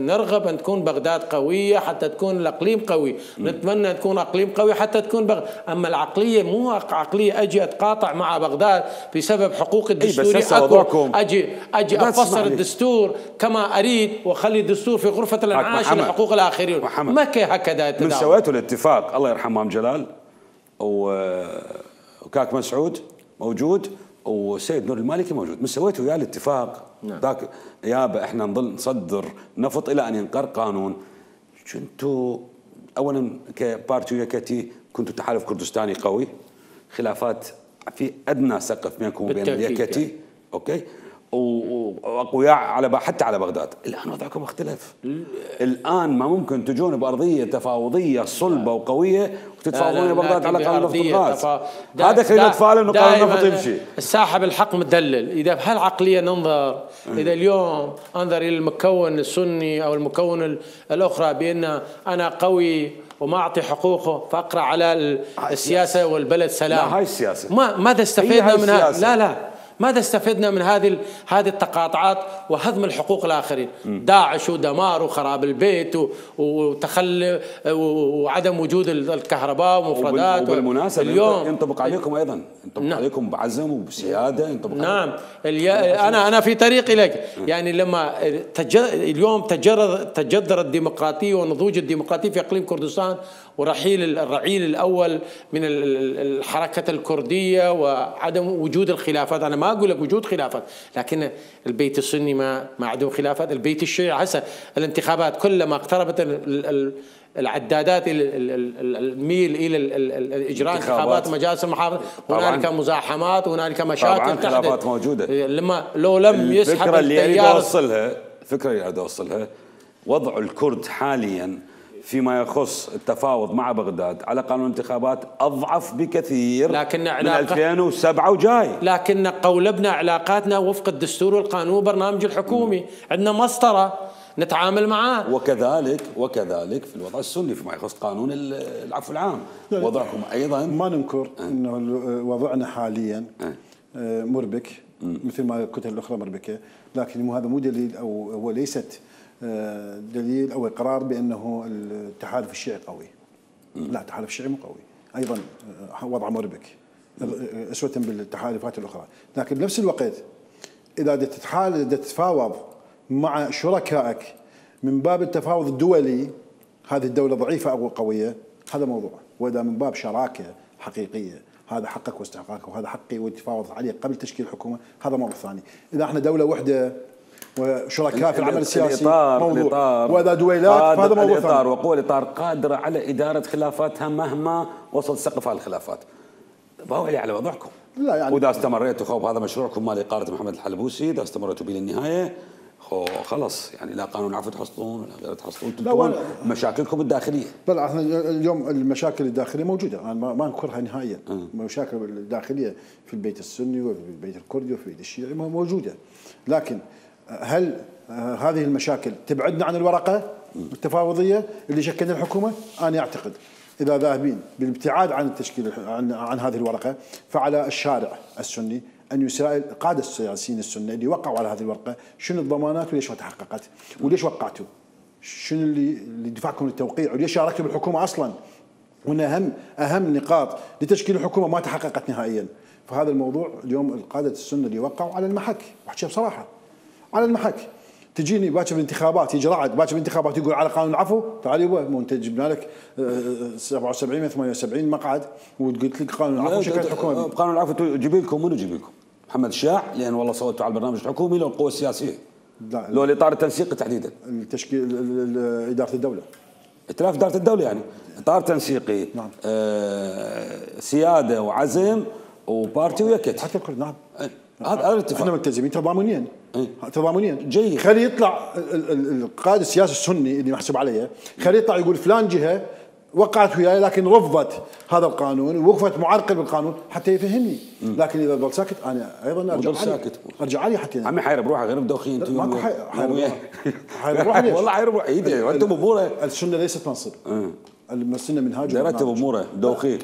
نرغب أن تكون بغداد قوية حتى تكون الأقليم قوي، نتمنى تكون أقليم قوي حتى تكون أما العقلية مو عقلية أجي أتقاطع مع بغداد بسبب حقوق الدستوري. أجي أفسر الدستور كما أريد وأخلي الدستور في غرفة الانعاش لحقوق الآخرين. ما هكذا
من سويته الاتفاق الله يرحمه أم جلال وكاك مسعود موجود وسيد نور المالكي موجود، من سويتوا وياه الاتفاق ذاك يابا احنا نظل نصدر نفط الى ان ينقر قانون. كنتوا اولا كبارتي ويا كتي كنتوا تحالف كردستاني قوي، خلافات في ادنى سقف بينكم وبين اليكتي يعني. اوكي، واقوياء على حتى على بغداد. الان وضعكم اختلف. الان ما ممكن تجون بارضيه تفاوضيه صلبه وقويه وتتفاوضون بغداد على قانون نفط الغاز. هذا خلينا نتفائل انه قانون النفط يمشي.
الساحب الحق مدلل. اذا بهالعقليه ننظر، اذا اليوم انظر الى المكون السني او المكون الاخرى بان انا قوي وما اعطي حقوقه فاقرا على السياسه والبلد سلام.
لا هاي السياسه.
ماذا استفدنا منها؟ لا ماذا استفدنا من هذه التقاطعات وهضم الحقوق الاخرين؟ داعش ودمار وخراب البيت وتخلي وعدم وجود الكهرباء ومفردات.
وبالمناسبه اليوم ينطبق عليكم ايضا، ينطبق عليكم بعزم وبسياده، ينطبق
نعم. انا في طريقي لك، يعني لما اليوم تجذر الديمقراطيه ونضوج الديمقراطيه في اقليم كردستان ورحيل الرعيل الاول من الحركه الكرديه وعدم وجود الخلافات. انا ما اقول لك وجود خلافات، لكن البيت السني ما عندهم خلافات، البيت الشيعي هسه الانتخابات كلما اقتربت العدادات الميل الى اجراء انتخابات مجالس المحافظه هنالك مزاحمات وهنالك مشاكل.
طبعا خلافات موجوده.
لو لم يسحب
الفكره اللي اريد اوصلها وضع الكرد حاليا فيما يخص التفاوض مع بغداد على قانون الانتخابات أضعف بكثير من 2007 وجاي.
لكن قولبنا علاقاتنا وفق الدستور والقانون والبرنامج الحكومي، عندنا مسطرة نتعامل معاه.
وكذلك في الوضع السني فيما يخص قانون العفو العام وضعكم أيضا.
ما ننكر أنه وضعنا حاليا مربك مثل ما كنت الأخرى مربكة، لكن هذا مو دليل أو هو ليست دليل او اقرار بانه التحالف الشيعي قوي. لا، التحالف الشيعي مو قوي، ايضا وضع مربك اسوه بالتحالفات الاخرى، لكن بنفس الوقت اذا تتفاوض مع شركائك من باب التفاوض الدولي، هذه الدوله ضعيفه او قويه، هذا موضوع. واذا من باب شراكه حقيقيه، هذا حقك واستحقاقك وهذا حقي والتفاوض عليه قبل تشكيل الحكومه، هذا موضوع ثاني. اذا احنا دوله وحده وشركاء في العمل السياسي موضوع، واذا دويلات فهذا موضوع ثاني.
وقوى الاطار قادره على اداره خلافاتها مهما وصل سقف هذه الخلافات. باوعي على وضعكم.
لا يعني
واذا استمريتوا خوف هذا مشروعكم مال اقاله محمد الحلبوسي، اذا استمريتوا به للنهايه خلص يعني لا قانون عفو تحصلون ولا غير تحصلون، تنتهون مشاكلكم الداخليه.
لا احنا اليوم المشاكل الداخليه موجوده، انا ما انكرها نهائيا. المشاكل الداخليه في البيت السني وفي البيت الكردي وفي البيت الشيعي موجوده، لكن هل هذه المشاكل تبعدنا عن الورقه التفاوضيه اللي شكلنا الحكومه؟ انا اعتقد اذا ذاهبين بالابتعاد عن التشكيل عن هذه الورقه، فعلى الشارع السني ان يسائل قاده السياسيين السنه اللي وقعوا على هذه الورقه شنو الضمانات وليش ما تحققت؟ وليش وقعتوا؟ شنو اللي دفعكم للتوقيع؟ وليش شاركتوا بالحكومه اصلا؟ وان اهم نقاط لتشكيل الحكومه ما تحققت نهائيا. فهذا الموضوع اليوم القاده السنه اللي وقعوا على المحك، واحكي بصراحه على المحك. تجيني باكر بالانتخابات، يجي رعد باكر بالانتخابات يقول على قانون العفو، تعال يبا مو انت جبنا لك 77 من 78 مقعد وقلت لك قانون العفو شكلت الحكومه.
قانون العفو يجيب لكم منو يجيب لكم؟ محمد الشاع لان والله صوتوا على البرنامج الحكومي لو القوى السياسيه؟ لا، لو الاطار التنسيقي تحديدا.
التشكيل اداره الدوله.
ائتلاف اداره الدوله يعني اطار تنسيقي. نعم. سياده وعزم وبارتي ويكت.
حتى الكل. نعم.
هذا الاتفاق.
احنا ملتزمين تضامنيا. تضامنيا.
جيد.
خلي يطلع القائد السياسي السني اللي محسوب عليه، خلي يطلع يقول فلان جهه وقعت وياي لكن رفضت هذا القانون ووقفت معرقل بالقانون حتى يفهمني. لكن اذا ضل ساكت انا ايضا ارجع علي حتى
عمي حيرب روحه غير مدوخين انتم.
ماكو حيرب روحه. ليش؟
والله حيرب ايده وانتم باموره.
السنه ليست منصب. السنه منهاج.
رتب اموره دوخين.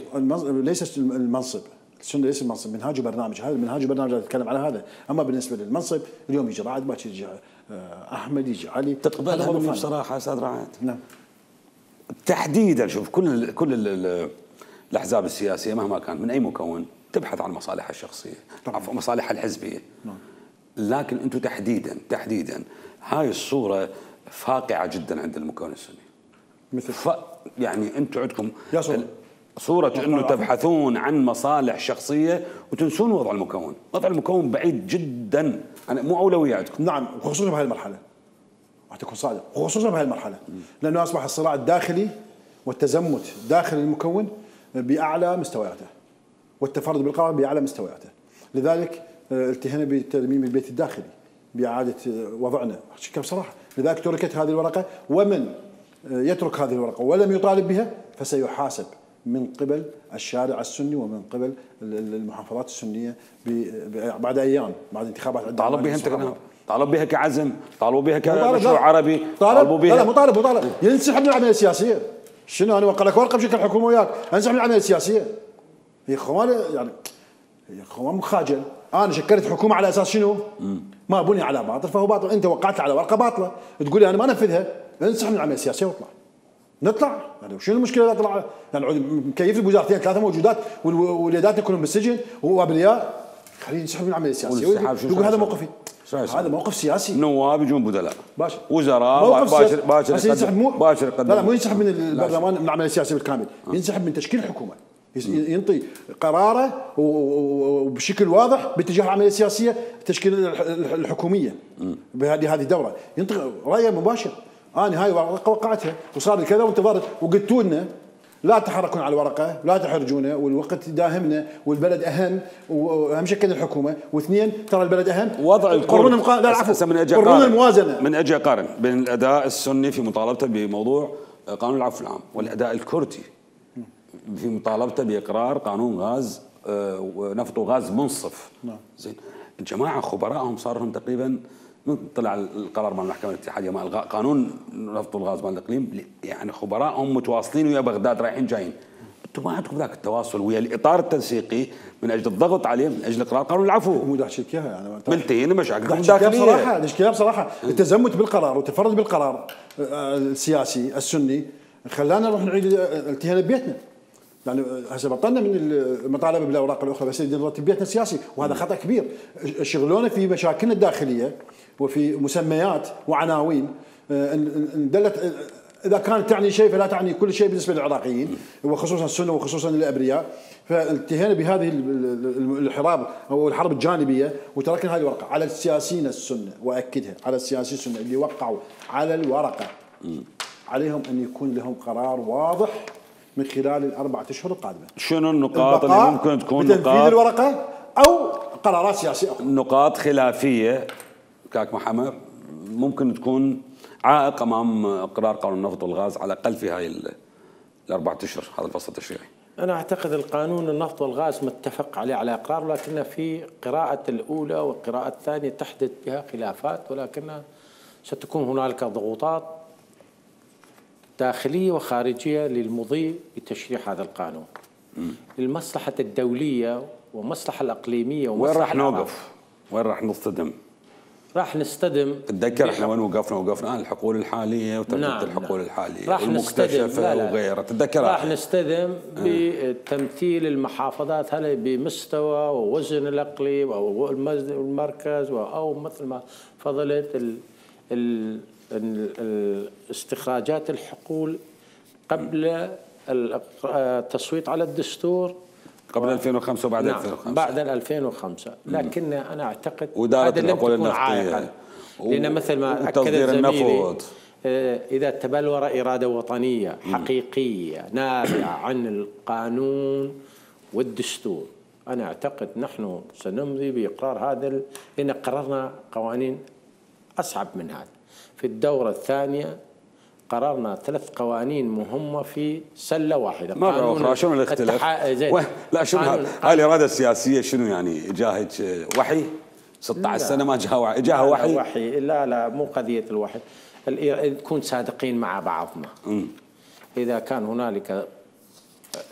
ليست المنصب. السنه ليس المنصب، منهاج وبرنامج. هذا المنهاج وبرنامج نتكلم على هذا. اما بالنسبه للمنصب اليوم يجي رعد باكر يجي احمد يجي علي.
تقبلها مني بصراحه استاذ رعد؟
نعم.
تحديدا شوف كل الاحزاب السياسيه مهما كانت من اي مكون تبحث عن مصالحها الشخصيه، عفوا مصالحها الحزبيه.
نعم.
لكن انتم تحديدا هاي الصوره فاقعه جدا عند المكون السني.
مثل
يعني انتم عندكم صورة انه تبحثون عن مصالح شخصية وتنسون وضع المكون، وضع المكون بعيد جدا، مو أولوية عندكم.
نعم، وخصوصا بهذه المرحلة. راح تكون صادق، وخصوصا بهذه المرحلة، لأنه أصبح الصراع الداخلي والتزمت داخل المكون بأعلى مستوياته، والتفرد بالقرار بأعلى مستوياته. لذلك التهينا بترميم البيت الداخلي، بإعادة وضعنا بصراحة. لذلك تركت هذه الورقة، ومن يترك هذه الورقة ولم يطالب بها فسيحاسب من قبل الشارع السني ومن قبل المحافظات السنية بعد أيام، بعد انتخابات.
طالب بها أنت كمان؟ طالب بها كعزم، طالبوا بها كمشروع عربي،
طالبوا بها. لا مو طالب ينسحب من العملية السياسية. شنو انا اوقع لك ورقه بشكل الحكومه وياك انسحب من العمليه السياسيه؟ يا اخوان يعني يا اخوان مخاجل. انا شكلت حكومه على اساس شنو؟ ما بني على باطل فهو باطل. انت وقعت على ورقه باطله تقول لي انا ما انفذها، انسحب من العمليه السياسيه واطلع. نطلع يعني شنو المشكله اذا طلع؟ يعني مكيف بوزارتين ثلاثه موجودات واليدات كلهم بالسجن وابرياء، خليه ينسحب من العمليه السياسيه. يقول هذا موقفي.
هذا
موقف سياسي.
نواب يجون بدلاء
باشا،
وزراء
باكر لا مو ينسحب من البرلمان من العمليه السياسيه بالكامل، ينسحب من تشكيل الحكومه، ينطي قراره وبشكل واضح باتجاه العمليه السياسيه تشكيل الحكوميه بهذه الدوره، ينطي رايه مباشر. انا هاي ورقه وقعتها وصار لي كذا وانتظرت وقلتوا لنا لا تحركون على الورقه، لا تحرجونا، والوقت داهمنا والبلد اهم واهم شيء الحكومه، واثنين ترى البلد اهم.
وضع القرون
لا العفو قرون الموازنه.
من اجي اقارن بين الاداء السني في مطالبته بموضوع قانون العفو العام والاداء الكردي في مطالبته باقرار قانون غاز ونفط وغاز منصف. زين الجماعه خبراءهم صار لهم تقريبا من طلع القرار مال المحكمه الاتحاديه مال قانون نفط والغاز مال الاقليم، يعني خبراءهم متواصلين ويا بغداد رايحين جايين. انتم ما عندكم ذاك التواصل ويا الاطار التنسيقي من اجل الضغط عليه من اجل اقرار قانون العفو.
مو داعي اياها يعني
ملتين مشاكلكم الداخليه.
بصراحه بصراحه التزمت بالقرار والتفرد بالقرار السياسي السني خلانا نروح نعيد التهينا ببيتنا. يعني هسه بطلنا من المطالبه بالاوراق الاخرى بس نرتب بيتنا السياسي، وهذا خطا كبير. شغلونا في مشاكلنا الداخليه وفي مسميات وعناوين دلت اذا كانت تعني شيء فلا تعني كل شيء بالنسبه للعراقيين وخصوصا السنه وخصوصا الابرياء. فانتهينا بهذه الحرب او الحرب الجانبيه وتركنا هذه الورقه على السياسيين السنه، واكدها على السياسيين السنه اللي وقعوا على الورقه عليهم ان يكون لهم قرار واضح من خلال ال4 أشهر القادمه.
شنو النقاط اللي ممكن تكون
بتنفيذ الورقه او قرارات سياسيه اخرى؟
نقاط خلافيه كاك محمد ممكن تكون عائق امام اقرار قانون النفط والغاز على الاقل في هاي ال4 اشهر هذا الفصل التشريعي.
انا اعتقد القانون النفط والغاز متفق عليه على اقرار، لكن في قراءه الاولى والقراءه الثانيه تحدث بها خلافات، ولكن ستكون هنالك ضغوطات داخلية وخارجية للمضي بتشريع هذا القانون. المصلحة الدولية والمصلحة الإقليمية
وين راح نوقف؟ وين راح نصطدم؟
راح نصطدم.
تتذكر احنا وين وقفنا الحقول الحالية وتربية الحقول الحالية والمكتشفة وغيرها، تتذكر؟
راح نصطدم بتمثيل المحافظات هل بمستوى ووزن الإقليم أو المركز أو مثل ما فضلت استخراجات الحقول قبل التصويت على الدستور
قبل 2005 وبعد 2005.
بعد 2005، لكن انا اعتقد
هذا لم تكن عائقا،
لان مثل ما اكد زميلي اذا تبلور اراده وطنيه حقيقيه نابعه عن القانون والدستور، انا اعتقد نحن سنمضي باقرار هذا، لان قررنا قوانين اصعب من هذا. في الدورة الثانية قررنا 3 قوانين مهمة في سلة واحدة.
مرة أخرى شنو الاختلاف؟ لا شنو هاي الإرادة السياسية شنو يعني؟ جاهد وحي 16 سنة ما جاها وحي؟
لا مو قضية الوحي، نكون صادقين مع بعضنا. إذا كان هنالك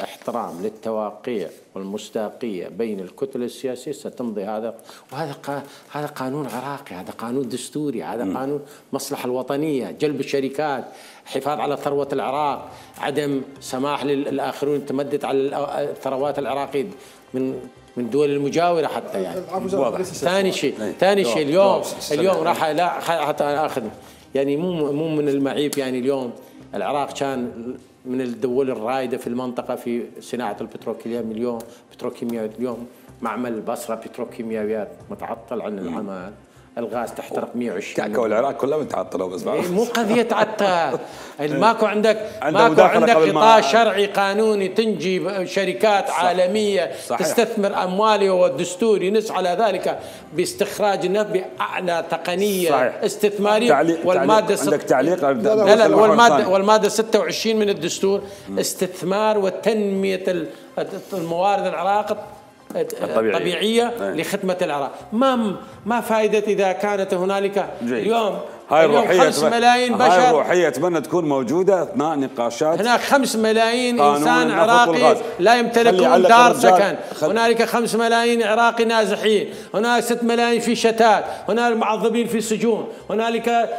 احترام للتواقيع والمصداقية بين الكتل السياسية ستمضي هذا، وهذا قانون عراقي، هذا قانون دستوري، هذا قانون مصلحة الوطنية، جلب الشركات، حفاظ على ثروة العراق، عدم سماح للآخرون تمدد على الثروات العراقية من دول المجاورة حتى يعني. ثاني شيء اليوم راح لا حتى اخذ يعني مو من المعيب يعني اليوم العراق كان من الدول الرائدة في المنطقة في صناعة البتروكيماويات اليوم معمل البصرة بتروكيماويات متعطل عن العمل، الغاز تحترق 120.
كعكة والعراق كلها متعطلة بس
مو قضية تعطل. ماكو عندك قطاع شرعي قانوني تنجي شركات عالمية تستثمر أموالها، والدستور ينص على ذلك باستخراج النفط بأعلى تقنية استثمارية.
والمادة عندك تعليق؟
والمادة 26 من الدستور استثمار وتنمية الموارد العراق الطبيعية لخدمة العراق. ما فائدة إذا كانت هنالك اليوم
هاي
5 ملايين بشر.
هاي الروحية أتمنى تكون موجودة أثناء نقاشات.
هناك 5 ملايين إنسان عراقي لا يمتلكون دار سكن، هنالك 5 ملايين عراقي نازحين، هناك 6 ملايين في شتات، هنالك معذبين في سجون، هنالك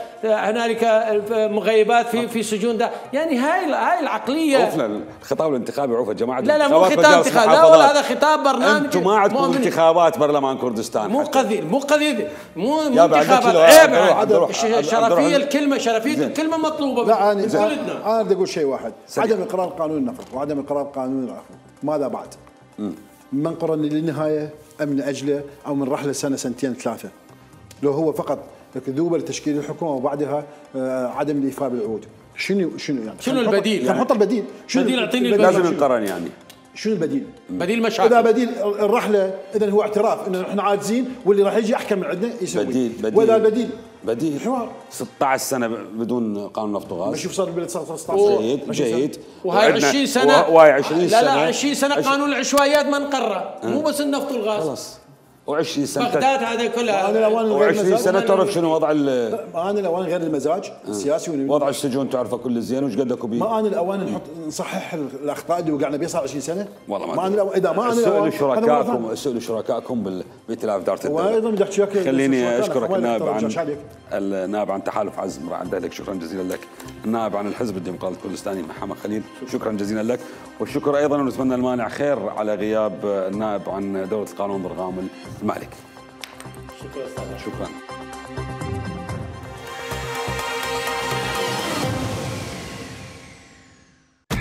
مغيبات في سجون. ده يعني هاي العقلية.
عرفنا الخطاب الانتخابي، عرفوا جماعة.
لا مو خطاب انتخابي، لا والله هذا خطاب برنامج.
انتم ما عندكم انتخابات برلمان كردستان.
مو انتخابات. عيب. شرفية الكلمة مطلوبة.
لا أنا بدي أقول شيء واحد. عدم إقرار قانون النفط وعدم إقرار قانون العفو، ماذا بعد؟ من قرن للنهاية أم من أجله أو من رحلة سنة سنتين 3؟ لو هو فقط ذوبة لتشكيل الحكومة وبعدها عدم الإيفاء بالعهود، شنو يعني؟
شنو البديل؟
نحط البديل.
بديل اعطيني البديل.
لازم ينقرن يعني.
شنو البديل؟
بديل مشاكل.
إذا بديل الرحلة إذا هو اعتراف إنه إحنا عاجزين واللي راح يجي أحكم من عندنا يسوي.
بديل.
وإذا بديل
حوار 16 سنة بدون قانون نفط وغاز.
بشوف صار البلد صار 16.
جيد.
وهاي 20 سنة.
وهاي 20 سنة.
لا 20 سنة قانون العشوائيات ما انقرر، مو بس النفط والغاز.
خلاص. و20 سنة
بغداد هذا كلها.
و20 سنة تعرف شنو وضع
أنا الأوان غير المزاج السياسي
وضع السجون تعرفه كل زين وش قدكم بيه.
ما أنا الأوان نصحح الأخطاء اللي وقعنا بها صار 20 سنة.
والله
ما أنا إذا ما أنا
اسألوا شركائكم بالائتلاف دارة الدولة.
وأيضا بدي أحكي لك.
خليني أشكرك النائب عن تحالف عزم راح لك، شكرا جزيلا لك. النائب عن الحزب الديمقراطي الكردستاني محمد خليل، شكرا جزيلا لك. والشكر أيضا ونتمنى المانع خير على غياب النائب عن دولة القانون ضرغام المالك. شكرا.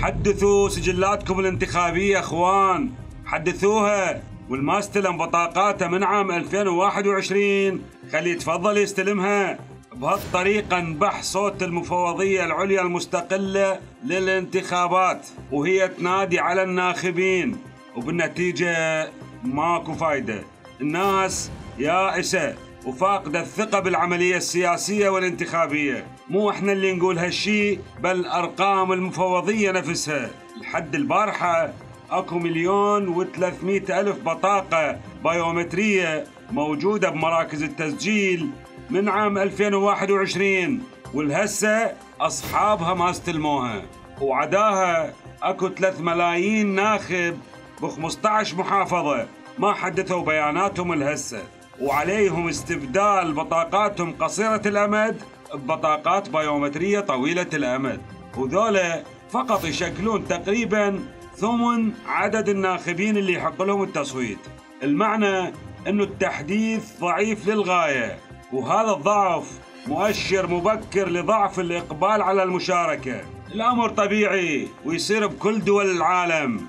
حدثوا سجلاتكم الانتخابية اخوان، حدثوها، والما استلم بطاقاته من عام 2021 خليه يتفضل يستلمها. بهالطريقة انبح صوت المفوضية العليا المستقلة للانتخابات وهي تنادي على الناخبين، وبالنتيجة ماكو فايدة. الناس يائسة وفاقدة الثقة بالعملية السياسية والانتخابية. مو احنا اللي نقول هالشي، بل أرقام المفوضية نفسها. لحد البارحة اكو 1,300,000 بطاقة بايومترية موجودة بمراكز التسجيل من عام 2021، والهسه أصحابها ما استلموها. وعداها اكو 3 ملايين ناخب ب15 محافظة ما حدثوا بياناتهم الهسه، وعليهم استبدال بطاقاتهم قصيرة الأمد ببطاقات بايومترية طويلة الأمد، وذولا فقط يشكلون تقريبا ثمن عدد الناخبين اللي يحق لهم التصويت. المعنى أنه التحديث ضعيف للغاية، وهذا الضعف مؤشر مبكر لضعف الإقبال على المشاركة. الأمر طبيعي ويصير بكل دول العالم،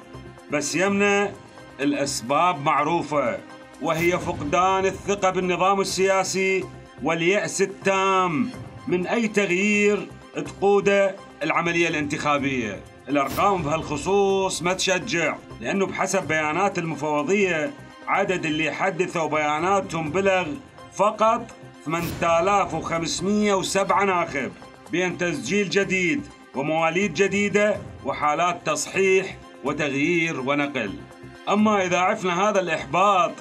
بس يمنع الأسباب معروفة، وهي فقدان الثقة بالنظام السياسي واليأس التام من أي تغيير تقوده العملية الانتخابية. الأرقام بهالخصوص ما تشجع، لأنه بحسب بيانات المفوضية عدد اللي حدثوا بياناتهم بلغ فقط 8507 ناخب، بين تسجيل جديد ومواليد جديدة وحالات تصحيح وتغيير ونقل. أما إذا عرفنا هذا الإحباط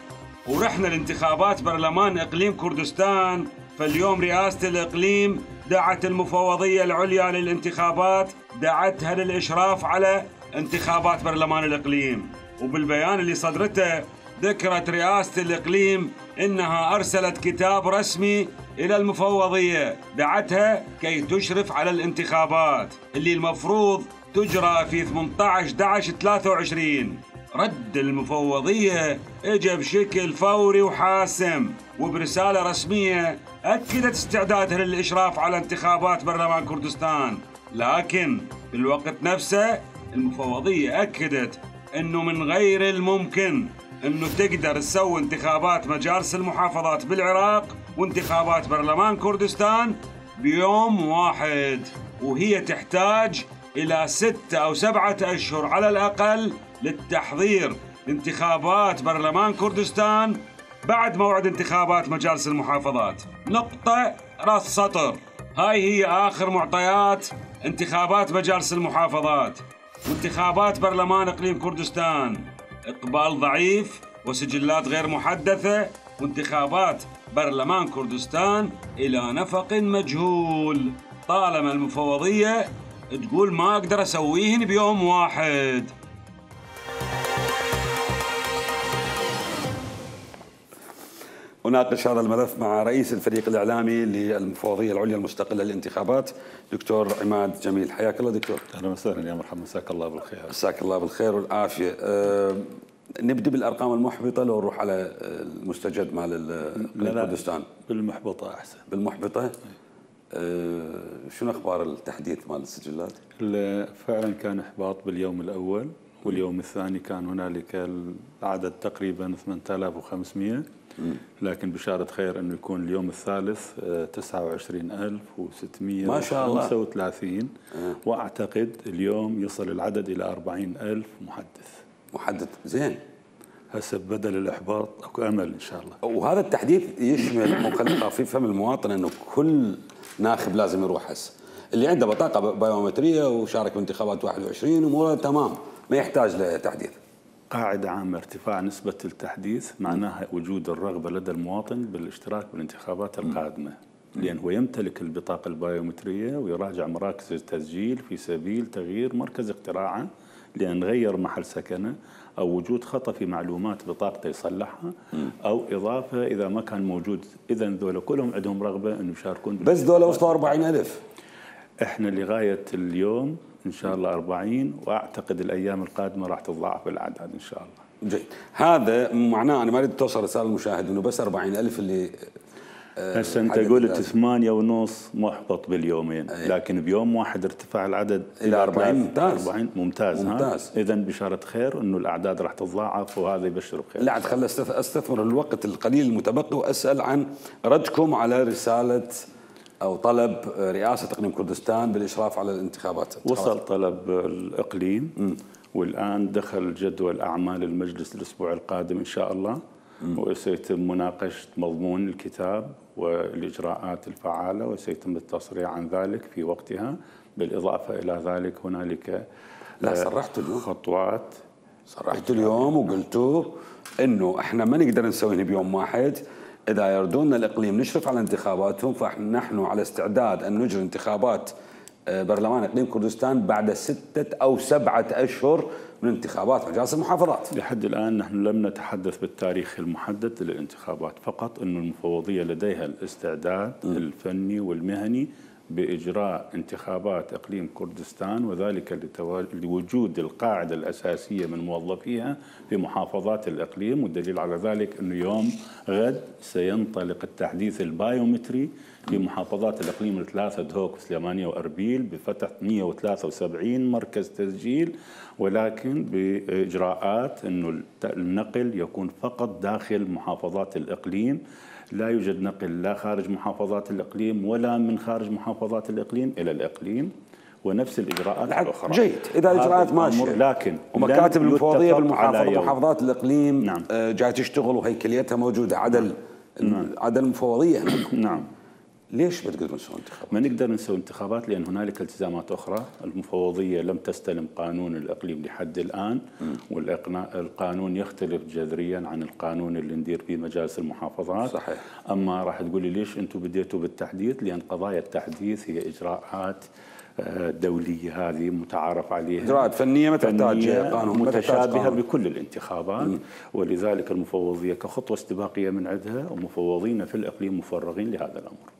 ورحنا لانتخابات برلمان إقليم كردستان، فاليوم رئاسة الإقليم دعت المفوضية العليا للانتخابات، دعتها للإشراف على انتخابات برلمان الإقليم، وبالبيان اللي صدرته ذكرت رئاسة الإقليم إنها أرسلت كتاب رسمي إلى المفوضية دعتها كي تشرف على الانتخابات اللي المفروض تجرى في 18/11/23. رد المفوضية اجى بشكل فوري وحاسم، وبرسالة رسمية أكدت استعدادها للإشراف على انتخابات برلمان كردستان، لكن في الوقت نفسه المفوضية أكدت أنه من غير الممكن أنه تقدر تسوي انتخابات مجالس المحافظات بالعراق وانتخابات برلمان كردستان بيوم واحد، وهي تحتاج إلى 6 أو 7 أشهر على الأقل للتحضير لانتخابات برلمان كردستان بعد موعد انتخابات مجالس المحافظات. نقطة راس سطر. هاي هي آخر معطيات انتخابات مجالس المحافظات. وانتخابات برلمان إقليم كردستان إقبال ضعيف وسجلات غير محدثة، وانتخابات برلمان كردستان إلى نفق مجهول، طالما المفوضية تقول ما أقدر أسويهن بيوم واحد. أناقش هذا الملف مع رئيس الفريق الإعلامي للمفوضية العليا المستقلة للانتخابات دكتور عماد جميل. حياك الله دكتور.
أهلا وسهلا يا مرحبا، مساك الله بالخير.
مساك الله بالخير والعافية. نبدأ بالأرقام المحبطة لو نروح على المستجد مال كردستان.
بالمحبطة أحسن.
بالمحبطة؟ شنو أخبار التحديث مال السجلات؟
فعلا كان إحباط باليوم الأول، واليوم الثاني كان هنالك العدد تقريبا 8500، لكن بشارة خير أنه يكون اليوم الثالث 29635
ما شاء الله.
وأعتقد اليوم يصل العدد إلى 40000
محدث. زين.
هسه بدل الإحباط أكو أمل إن شاء الله.
وهذا التحديث يشمل مخلفة في فم المواطن أنه كل ناخب لازم يروح هسه، اللي عنده بطاقة بايومترية وشارك بانتخابات 21 أموره تمام ما يحتاج لتحديث.
قاعدة عامة ارتفاع نسبة التحديث معناها وجود الرغبة لدى المواطن بالاشتراك بالانتخابات القادمة، لأن هو يمتلك البطاقة البايومترية ويراجع مراكز التسجيل في سبيل تغيير مركز اقتراعه لأن غير محل سكنه، أو وجود خطأ في معلومات بطاقته يصلحها، أو إضافة إذا ما كان موجود. إذا ذولا كلهم عندهم رغبة أن يشاركون.
بس ذولا وصلوا 40,000.
إحنا لغاية اليوم إن شاء الله 40، وأعتقد الأيام القادمة راح تتضاعف الأعداد إن شاء الله.
جيد. هذا معناه أنا ما أريد توصل رسالة للمشاهد إنه بس 40,000 اللي
هسه أنت قلت 8.5 محبط باليومين، لكن بيوم واحد ارتفاع العدد
إلى 40. ممتاز.
40 ممتاز. إذا بشارة خير إنه الأعداد راح تتضاعف، وهذا يبشر بخير.
لا عاد خلي أستثمر الوقت القليل المتبقي وأسأل عن ردكم على رسالة أو طلب رئاسة إقليم كردستان بالإشراف على الانتخابات.
وصل طلب الإقليم، والآن دخل جدول أعمال المجلس الأسبوع القادم إن شاء الله، وسيتم مناقشة مضمون الكتاب والإجراءات الفعالة، وسيتم التصريح عن ذلك في وقتها. بالإضافة إلى ذلك هنالك
صرحت اليوم
خطوات.
صرحت اليوم وقلتوا إنه إحنا ما نقدر نسويها بيوم واحد. إذا يردون الإقليم نشرف على انتخاباتهم فنحن على استعداد أن نجري انتخابات برلمان إقليم كردستان بعد 6 أو 7 أشهر من انتخابات مجالس المحافظات.
لحد الآن نحن لم نتحدث بالتاريخ المحدد للانتخابات، فقط أن المفوضية لديها الاستعداد الفني والمهني بإجراء انتخابات إقليم كردستان، وذلك لوجود القاعدة الأساسية من موظفيها في محافظات الإقليم. والدليل على ذلك أنه يوم غد سينطلق التحديث البايومتري في محافظات الإقليم الثلاثة دهوك وسليمانية وأربيل بفتح 173 مركز تسجيل، ولكن بإجراءات أنه النقل يكون فقط داخل محافظات الإقليم، لا يوجد نقل لا خارج محافظات الإقليم ولا من خارج محافظات الإقليم إلى الإقليم، ونفس الإجراءات الأخرى.
جيد. إذا الإجراءات ماشية،
لكن
ومكاتب المفوضية بالمحافظات الإقليم
نعم.
جاي تشتغل وهيكليتها موجودة عدل المفوضية.
نعم.
ليش بتقدرون تسوون انتخابات؟
ما نقدر نسوي انتخابات لأن هنالك التزامات أخرى. المفوضية لم تستلم قانون الإقليم لحد الآن، والقانون يختلف جذريا عن القانون اللي ندير به مجالس المحافظات.
صحيح.
أما راح تقولي ليش أنتم بديتوا بالتحديث؟ لأن قضايا التحديث هي إجراءات دولية، هذه متعارف عليها،
إجراءات فنية ما تحتاج قانون،
متشابهة بكل الانتخابات. ولذلك المفوضية كخطوة استباقية من عندها، ومفوضين في الإقليم مفرغين لهذا الأمر.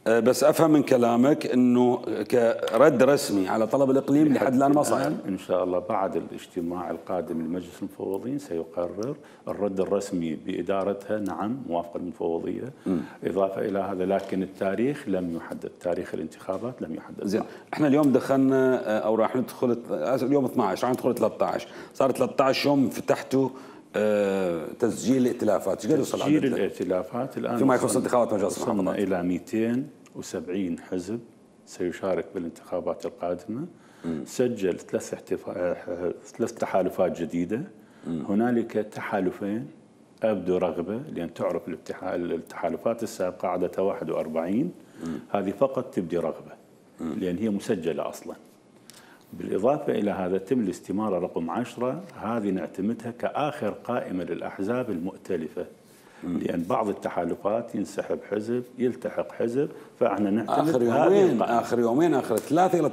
بس افهم من كلامك انه كرد رسمي على طلب الاقليم لحد الان ما صار.
ان شاء الله بعد الاجتماع القادم لمجلس المفوضين سيقرر الرد الرسمي بادارتها، نعم موافقه المفوضيه. اضافه الى هذا لكن التاريخ لم يحدد، تاريخ الانتخابات لم يحدد.
زين، احنا اليوم دخلنا او راح ندخل اليوم 12، راح ندخل 13، صار 13 يوم فتحتوا تسجيل الائتلافات. ايش قد وصل
تسجيل الائتلافات الان
فيما يخص انتخابات مجلس
وصلنا الى 270 حزب سيشارك بالانتخابات القادمه. سجل ثلاث تحالفات جديده. هنالك تحالفين ابدوا رغبه، لان تعرف التحالفات السابقه عددها 41، هذه فقط تبدي رغبه لان هي مسجله اصلا. بالإضافة إلى هذا تم الاستمارة رقم 10، هذه نعتمدها كآخر قائمة للأحزاب المؤتلفة، لأن بعض التحالفات ينسحب حزب يلتحق حزب، فاحنا نعتمد
آخر يومين آخر 3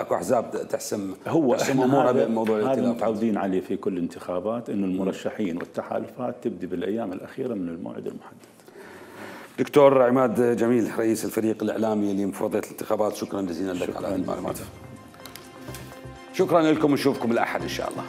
اكو أحزاب تحسم أمورها بموضوع الائتلاف.
هذا متعودين عليه في كل الانتخابات، إنه المرشحين والتحالفات تبدي بالأيام الأخيرة من الموعد المحدد.
دكتور عماد جميل رئيس الفريق الإعلامي لمفوضية الانتخابات، شكرا جزيلا لك على هذه المعلومات. شكرا لكم ونشوفكم الأحد إن شاء الله.